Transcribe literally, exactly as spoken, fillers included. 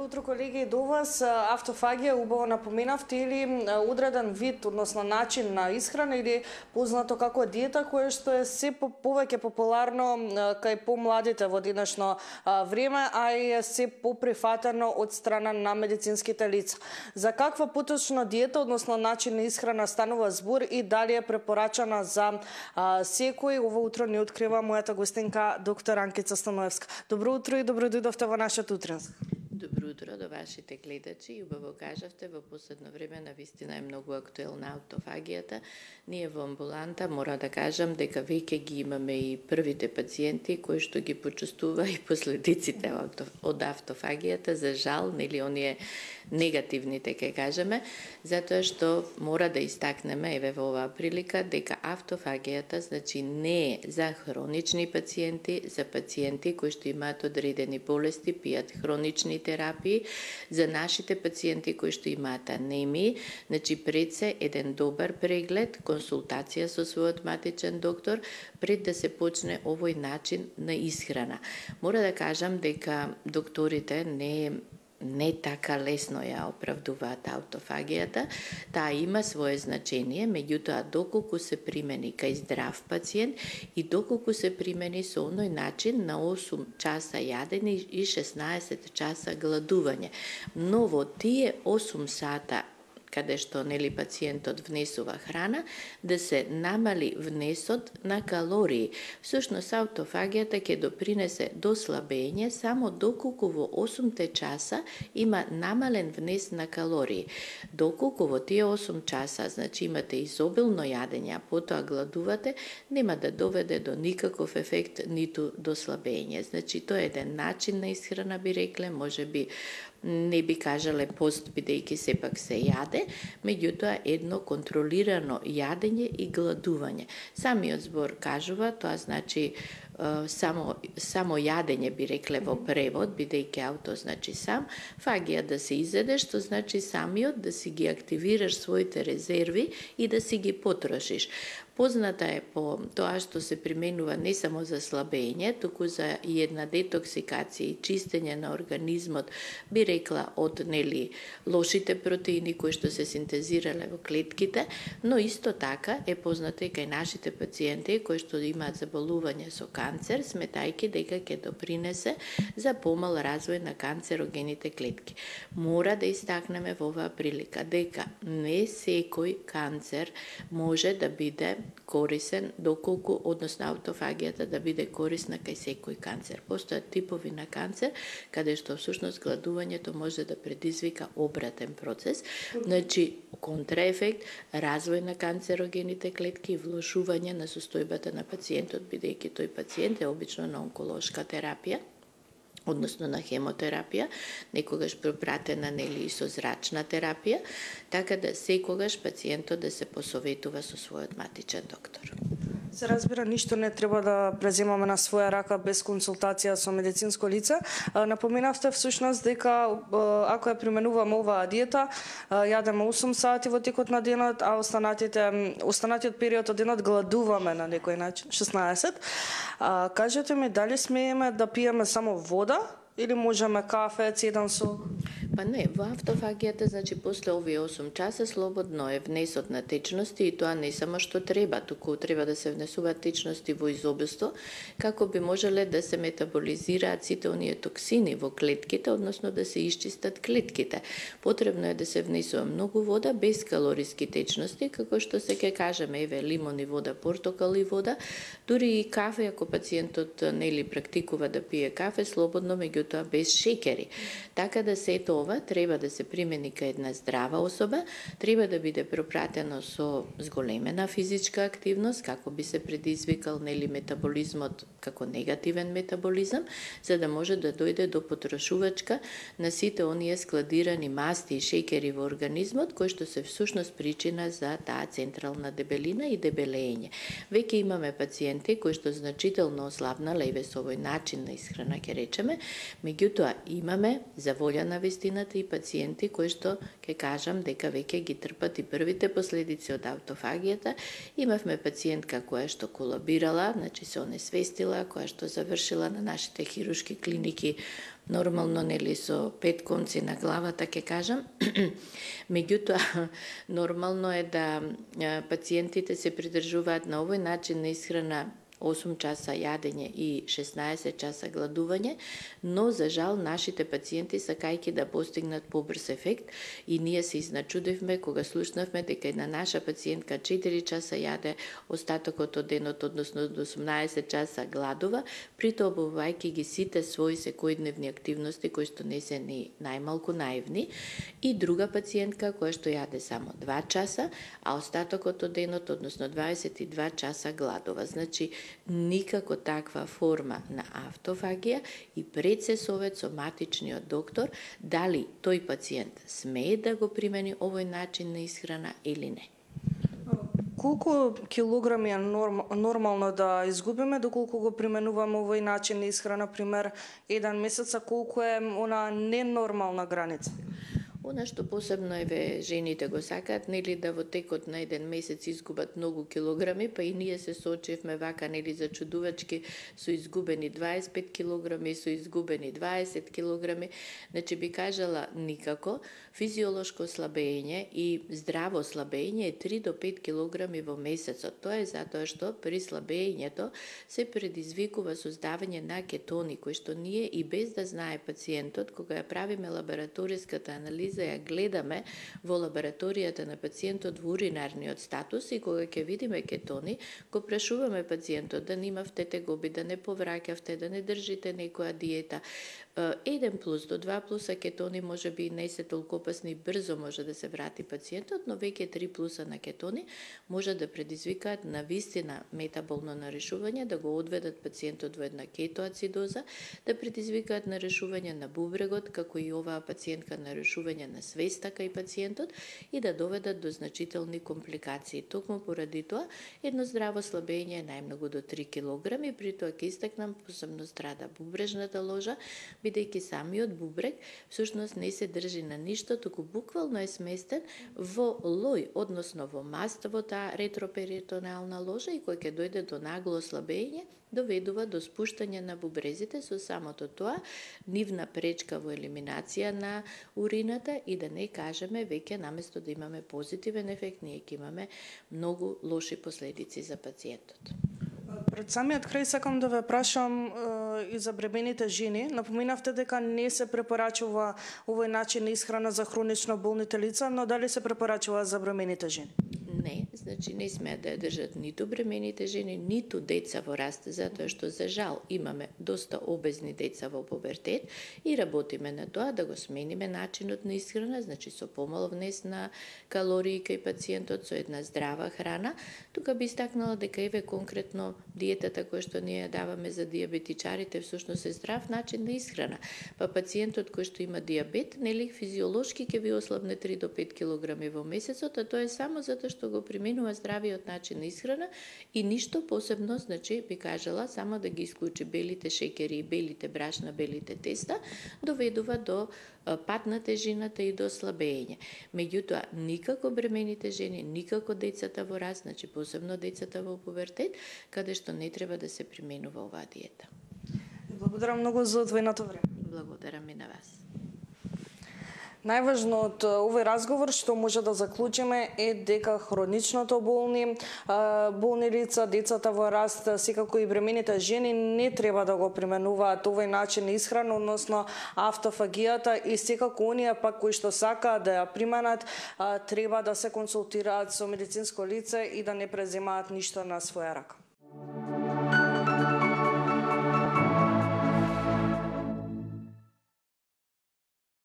утро, колеги, до вас. Автофагија, убаво напоменавте, или одреден вид, односно начин на исхрана или познато како диета, кое што е се повеќе популарно кај помладите во денешно време, а и е се поприфатено од страна на медицинските лица. За каква поточно диета, односно начин на исхрана станува збор и дали е препорачана за секој? Ово утро ни открива мојата гостинка доктор Анкица Станоевска. Добро утро и добро дојдовте во нашата утренска. Добро утро до вашите гледачи. И убаво кажавте, во последно време навистина е многу актуелна автофагијата. Ние во амбуланта мора да кажам дека веќе ги имаме и првите пациенти кои што ги почувствува и последиците од автофагијата. За жал, нели оние негативните, ке кажеме, затоа што мора да истакнеме, еве во оваа прилика, дека автофагијата значи не е за хронични пациенти, за пациенти кои што имаат одредени болести, пијат хронични терапии, за нашите пациенти кои што имаат анемии, значи пред се еден добар преглед, консултација со својот матичен доктор, пред да се почне овој начин на исхрана. Мора да кажам дека докторите не не така лесно ја оправдуваат автофагијата, таа има свое значение, меѓутоа доколку се примени кај здрав пациент и доколку се примени со оној начин на осум часа јадење и шеснаесет часа гладување. Но во тие осум сата каде што нели пациентот внесува храна, да се намали внесот на калории. Всушност автофагијата ќе допринесе до слабење само доколку во осумте часа има намален внес на калории. Доколку во тие осум часа, значи имате изобилно јадење, а потоа гладувате, нема да доведе до никаков ефект ниту до слабење. Значи тоа е еден начин на исхрана, би рекле, можеби не би кажале пост, бидејќи сепак се јаде, меѓутоа едно контролирано јадење и гладување. Самиот збор кажува, тоа значи само само јадење, би рекле во превод, бидејќи ауто значи сам, фагија да се изеде, што значи самиот да си ги активираш своите резерви и да си ги потрошиш. Позната е по тоа што се применува не само за слабење, туку за и една детоксикација и чистење на организмот, би рекла од нели лошите протеини кои што се синтезирале во клетките, но исто така е позната и кај нашите пациенти кои што имаат заболување со канцер, сметајќи дека ќе допринесе за помал развој на канцерогените клетки. Мора да истакнеме во оваа прилика дека не секој канцер може да биде корисен, доколку, односно автофагијата да биде корисна кај секој канцер. Постојат типови на канцер, каде што всушност гладувањето може да предизвика обратен процес, значи контраефект, развој на канцерогените клетки и влошување на состојбата на пациентот, бидејќи тој пациент е обично на онколошка терапија, односно на хемотерапија, некогаш пропратена нели и со зрачна терапија, така да секогаш пациентот да се посоветува со својот матичен доктор. Се разбира, ништо не треба да преземаме на своја рака без консултација со медицинско лице. Напоменавте всушност дека ако ја применуваме оваа диета, јадеме осум сати во текот на денот, а останатите останатиот период од денот гладуваме на некој начин, шеснаесет. Кажете ми, дали смееме да пиеме само вода или можеме кафе, цеден сок? Па не, во автофагијата, значи, после овие осум часа слободно е внесот на течности и тоа не само што треба, туку треба да се внесуваат течности во изобилство, како би можеле да се метаболизираат сите оние токсини во клетките, односно да се исчистат клетките. Потребно е да се внесува многу вода, без калориски течности, како што се ке кажеме, еве, лимон и вода, портокал и вода, дури и кафе, ако пациентот нели практикува да пие кафе, слободно, меѓутоа без шекери. Така да сето ова треба да се примени кај една здрава особа, треба да биде пропратено со зголемена физичка активност, како би се предизвикал нели метаболизмот како негативен метаболизам, за да може да дојде до потрошувачка на сите оние складирани масти и шекери во организмот, кои што се всушност причина за таа централна дебелина и дебелење. Веќе имаме пациенти кои што значително ослабнале и со овој начин на исхрана, ќе речеме, меѓутоа имаме за волја на вистина споменати и пациенти кои што ќе кажам дека веќе ги трпат и првите последици од автофагијата. Имавме пациентка која што колабирала, значи се онесвестила, која што завршила на нашите хируршки клиники нормално, нели, со пет конци на главата, ќе кажам. Меѓутоа, нормално е да пациентите се придржуваат на овој начин на исхрана, осум часа јадење и шеснаесет часа гладување, но за жал нашите пациенти сакајќи да постигнат побрз ефект, и ние се изначудивме кога слушнавме дека една наша пациентка четири часа јаде, остатокот од денот, односно до осумнаесет часа гладува, притоа обувајќи ги сите своји секојдневни активности кои што не се ни најмалку наивни, и друга пациентка која што јаде само два часа, а остатокот од денот, односно дваесет и два часа гладува. Значи, никако таква форма на автофагија, и пред се совет со матичниот доктор дали тој пациент смее да го примени овој начин на исхрана или не. Колку килограми е норм, нормално да изгубиме доколку го применуваме овој начин на исхрана, пример еден месец, а колку е она ненормална граница? Она што посебно еве жените го сакаат, нели, да во текот на еден месец изгубат многу килограми, па и ние се соочевме вака, нели, зачудувачки, со изгубени дваесет и пет килограми, со изгубени дваесет килограми. Значи би кажала никако. Физиолошко слабење и здраво слабење е три до пет килограми во месецот. Тоа е затоа што при слабењето се предизвикува создавање на кетони, кои што ние и без да знае пациентот, кога ја правиме лабораториската анализа, ја гледаме во лабораторијата на пациентот во уринарниот статус, и кога ќе видиме кетони, го прашуваме пациентот да немавте тегоби, да не повраќавте, да не држите некоја диета. еден плюс до два плюса кетони може би не се толку опасни, брзо може да се врати пациентот, но веќе три плюса на кетони може да предизвикаат на вистина метаболно нарешување, да го одведат пациентот во една кетоацидоза, да предизвикаат нарешување на бубрегот, како и оваа пациентка нарешување на свеста кај пациентот, и да доведат до значителни компликации. Токму поради тоа, едно здраво слабење е најмногу до три килограми, при тоа ќе истакнам посебно страда бубрежната ложа, бидејќи самиот бубрег всушност не се држи на ништо, туку буквално е сместен во лој, односно во маст во таа ретроперитонална ложа, и кој ќе дојде до нагло ослабење, доведува до спуштање на бубрезите, со самото тоа нивна пречка во елиминација на урината, и да не кажеме веќе наместо да имаме позитивен ефект, ние ќе имаме многу лоши последици за пациентот. Пред самиот крај сакам да ве прашам е, и за бремените жени. Напоминавте дека не се препорачува овој начин на исхрана за хронично болните лица, но дали се препорачува за бремените жени? Не, значи не смеат да ја држат ниту бремените жени, ниту деца во раст, затоа што за жал имаме доста обезни деца во пубертет, и работиме на тоа да го смениме начинот на исхрана, значи со помал внес на калории кај пациентот, со една здрава храна. Тука би истакнала дека еве конкретно диетата која што ние ја даваме за диабетичарите всушност е здрав начин на исхрана. Па пациентот кој што има диабет, нели, физиолошки ќе ви ослабне три до пет килограми во месецот, а тоа е само затоа што го применува здравиот начин на исхрана, и ништо посебно, значи би кажала, само да ги исклучи белите шеќери и белите брашна, белите теста, доведува до пат на тежината и до слабење. Меѓутоа, никако бремените жени, никако децата во раст, значи посебно децата во пубертет, каде што не треба да се применува оваа диета. Благодарам многу за одвоеното време. Благодарам и на вас. Најважно од овој разговор што може да заклучиме е дека хроничното болни, болни лица, децата во раст, секако и бремените жени не треба да го применуваат овој начин на исхрана, односно автофагијата, и секако оние пак кои што сакаат да ја применат, треба да се консултираат со медицинско лице и да не преземаат ништо на своја рака.